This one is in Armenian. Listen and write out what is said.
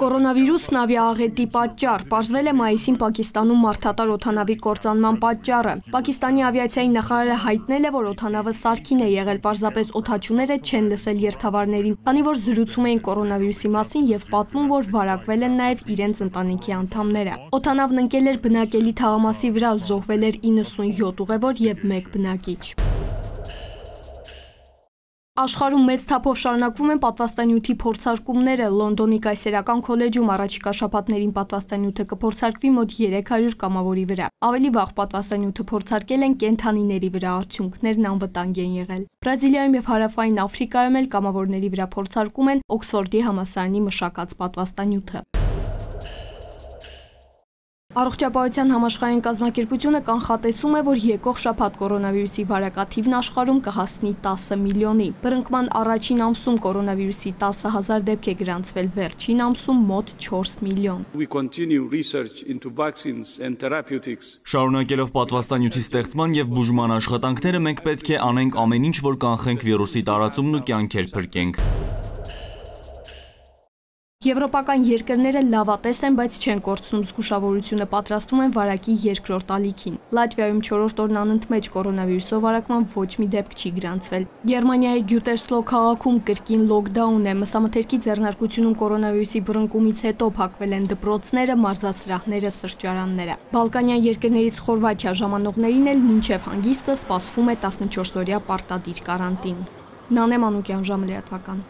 Կորոնավիրուսն ավիաաղետի պատճառ, պարզվել է մայիսին Պակիստանում մարդատար օդանավի կործանման պատճառը։ Պակիստանի ավիացիայի նախարարը հայտնել է, որ օդանավը սարքին է եղել, պարզապես օդաչուները չեն լսել երթավարներին, քանի որ զրուցում էին կորոնավիրուսի մասին եւ պատմում, որ վարակվել են նաեւ իրենց ընտանիքի անդամները։ Օդանավն ընկել էր բնակելի թաղամասի վրա, զոհվել էր 97 ուղևոր եւ 1 բնակիչ։ Աշխարհում մեծ թափով շարունակվում են պատվաստանյութի փորձարկումները։ Լոնդոնի կայսերական քոլեջում առաջիկա շաբաթներին պատվաստանյութը կփորձարկվի մոտ 300 կամավորի վրա։ Ավելի վաղ պատվաստանյութը փորձարկել են կենդանիների վրա, արդյունքներն անվտանգ են եղել։ Բրազիլիայում եւ Հարավային Աֆրիկայում էլ կամավորների վրա փորձարկում են Օքսֆորդի համալսարանի մշակած պատվաստանյութը։ Առողջապահության համաշխարհային կազմակերպությունը կանխատեսում է, որ եկող շաբաթ կորոնավիրուսի վարակաթիվն աշխարհում կհասնի 10 միլիոնի։ Բռնկման առաջին ամսում կորոնավիրուսի 10,000 դեպք է գրանցվել, վերջին ամսում մոտ 4 միլիոն։ Շարունակելով պատվաստանյութի ստեղծման եւ բուժման աշխատանքները, մենք պետք է անենք ամեն ինչ, որ կանխենք վիրուսի տարածումն ու կյանքեր փրկենք։ Եվրոպական երկրները լավատես են, բայց չեն կորցնում զգուշավորությունը, պատրաստվում են վարակի երկրորդ ալիքին։ Լատվիայում 4-րդ օրն անընդմեջ կորոնավիրուսով վարակման ոչ մի դեպք չի գրանցվել։ Գերմանիայի Գյուտերսլո քաղաքում կրկին լոկդաուն է։ Մսամթերքի ձեռնարկությունում կորոնավիրուսի բռնկումից հետո փակվել են դպրոցները, մարզասրահները, սրճարանները։ Բալկանյան երկրներից Խորվաթիա ժամանողներին էլ մինչև հանգիստը սպասվում է 14-օրյա պարտադիր կարանտին։ Նանե Մանուկյան, ժամը լրատվական։